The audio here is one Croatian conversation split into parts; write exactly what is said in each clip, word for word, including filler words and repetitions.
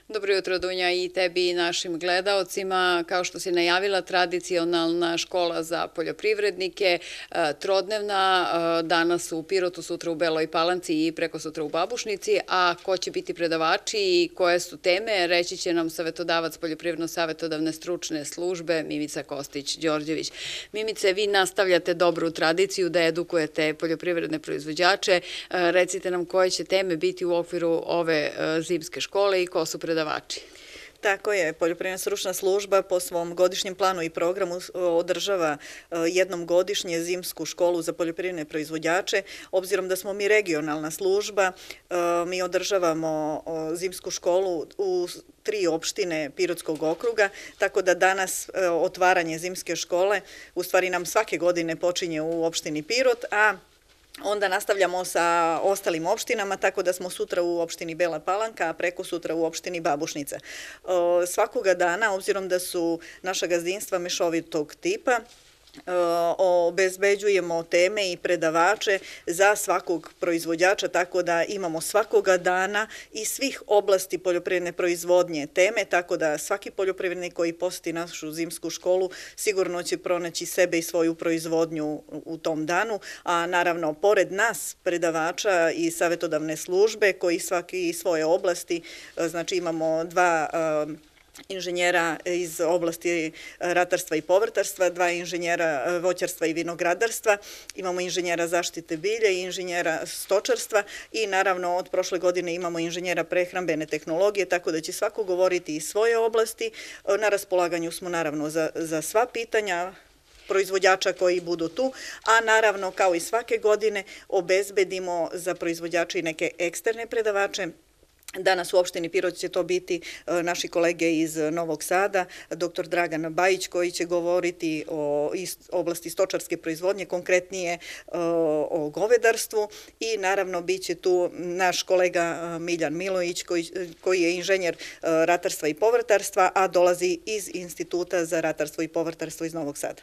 Dobro jutro, Dunja, i tebi i našim gledaocima. Kao što si najavila, tradicionalna škola za poljoprivrednike, trodnevna, danas u Pirotu, sutra u Beloj Palanci i preko sutra u Babušnici. A ko će biti predavači i koje su teme, reći će nam savetodavac Poljoprivredno-savetodavne stručne službe Mimica Kostić-Đorđević. Mimice, vi nastavljate dobru tradiciju da edukujete poljoprivredne proizvođače. Recite nam koje će teme biti u okviru ove zimske škole i ko su predavači. Tako je, Poljoprivredna stručna služba po svom godišnjem planu i programu održava jednom godišnje zimsku školu za poljoprivredne proizvođače. Obzirom da smo mi regionalna služba, mi održavamo zimsku školu u tri opštine Pirotskog okruga, tako da danas otvaranje zimske škole u stvari nam svake godine počinje u opštini Pirot, a onda nastavljamo sa ostalim opštinama, tako da smo sutra u opštini Bela Palanka, a preko sutra u opštini Babušnica. Svakoga dana, obzirom da su naša gazdinstva mešovitog tipa, obezbeđujemo teme i predavače za svakog proizvođača, tako da imamo svakoga dana i svih oblasti poljoprivredne proizvodnje teme, tako da svaki poljoprivrednik koji poseti našu zimsku školu sigurno će pronaći sebe i svoju proizvodnju u tom danu, a naravno pored nas predavača i savetodavne službe koji svaki iz svoje oblasti, znači imamo dva inženjera iz oblasti ratarstva i povrtarstva, dva inženjera voćarstva i vinogradarstva, imamo inženjera zaštite bilja i inženjera stočarstva i naravno od prošle godine imamo inženjera prehrambene tehnologije, tako da će svako govoriti iz svoje oblasti. Na raspolaganju smo naravno za, za sva pitanja proizvođača koji budu tu, a naravno kao i svake godine obezbedimo za proizvođače i neke eksterne predavače. Danas u opštini Pirot će to biti naši kolege iz Novog Sada, doktor Dragan Bajić koji će govoriti o oblasti stočarske proizvodnje, konkretnije o govedarstvu i naravno bit će tu naš kolega Miljan Milović koji, koji je inženjer ratarstva i povrtarstva, a dolazi iz Instituta za ratarstvo i povrtarstvo iz Novog Sada.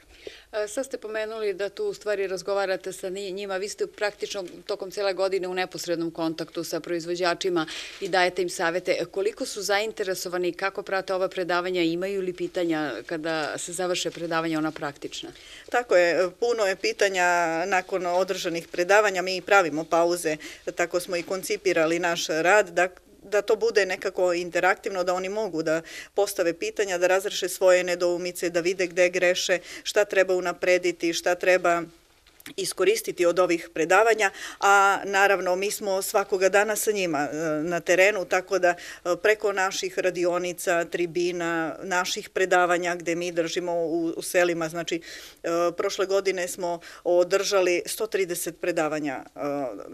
Sad ste pomenuli da tu u stvari razgovarate sa njima, vi ste praktično tokom cijele godine u neposrednom kontaktu sa proizvođačima i dajete im savete. Koliko su zainteresovani i kako prate ova predavanja, imaju li pitanja kada se završe predavanja, ona praktična? Tako je, puno je pitanja nakon održanih predavanja, mi pravimo pauze, tako smo i koncipirali naš rad, da da to bude nekako interaktivno, da oni mogu da postave pitanja, da razreše svoje nedoumice, da vide gde greše, šta treba unaprediti, šta treba iskoristiti od ovih predavanja, a naravno mi smo svakoga dana sa njima na terenu, tako da preko naših radionica, tribina, naših predavanja gde mi držimo u, u selima, znači prošle godine smo održali sto trideset predavanja.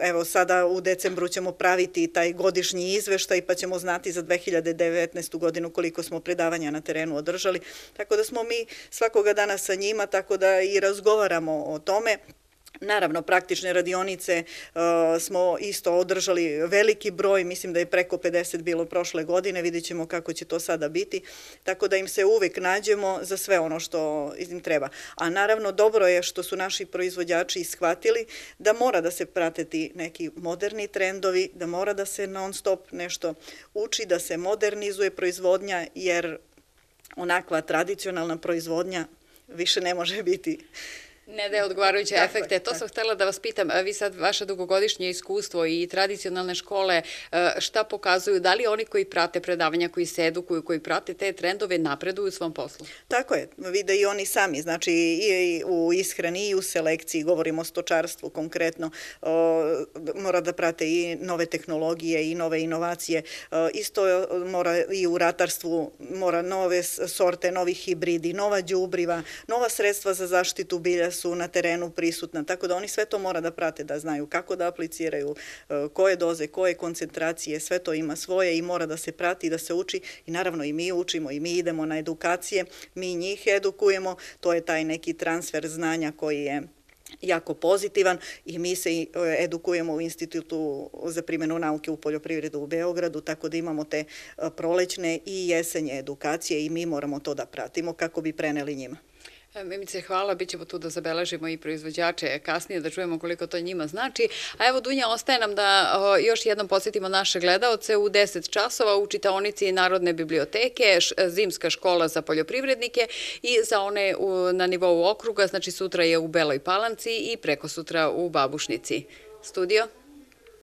Evo sada u decembru ćemo praviti taj godišnji izveštaj pa ćemo znati za dve hiljade devetnaestu godinu koliko smo predavanja na terenu održali, tako da smo mi svakoga dana sa njima, tako da i razgovaramo o tome. Naravno, praktične radionice uh, smo isto održali veliki broj, mislim da je preko pedeset bilo prošle godine, vidjet ćemo kako će to sada biti, tako da im se uvek nađemo za sve ono što im treba. A naravno, dobro je što su naši proizvođači shvatili da mora da se prateti neki moderni trendovi, da mora da se non stop nešto uči, da se modernizuje proizvodnja, jer onakva tradicionalna proizvodnja više ne može biti. Ne daje odgovarajuće efekte. To sam htjela da vas pitam. Vi sad, vaše dugogodišnje iskustvo i tradicionalne škole, šta pokazuju? Da li oni koji prate predavanja, koji se edukuju, koji prate te trendove, napreduju u svom poslu? Tako je. Vide i oni sami. Znači i u ishrani i u selekciji, govorimo o stočarstvu konkretno, mora da prate i nove tehnologije i nove inovacije. Isto mora i u ratarstvu, mora nove sorte, novi hibridi, nova đubriva, nova sredstva za zaštitu bilja su na terenu prisutna, tako da oni sve to mora da prate, da znaju kako da apliciraju, koje doze, koje koncentracije, sve to ima svoje i mora da se prati, da se uči i naravno i mi učimo i mi idemo na edukacije, mi njih edukujemo, to je taj neki transfer znanja koji je jako pozitivan i mi se edukujemo u Institutu za primjenu nauke u poljoprivredu u Beogradu, tako da imamo te prolećne i jesenje edukacije i mi moramo to da pratimo kako bi preneli njima. Mimice, hvala, bit ćemo tu da zabeležimo i proizvođače kasnije, da čujemo koliko to njima znači. A evo, Dunja, ostaje nam da još jednom podsjetimo naše gledaoce u deset časova u čitaonici Narodne biblioteke, zimska škola za poljoprivrednike i za one na nivou okruga, znači sutra je u Beloj Palanci i preko sutra u Babušnici. Studio?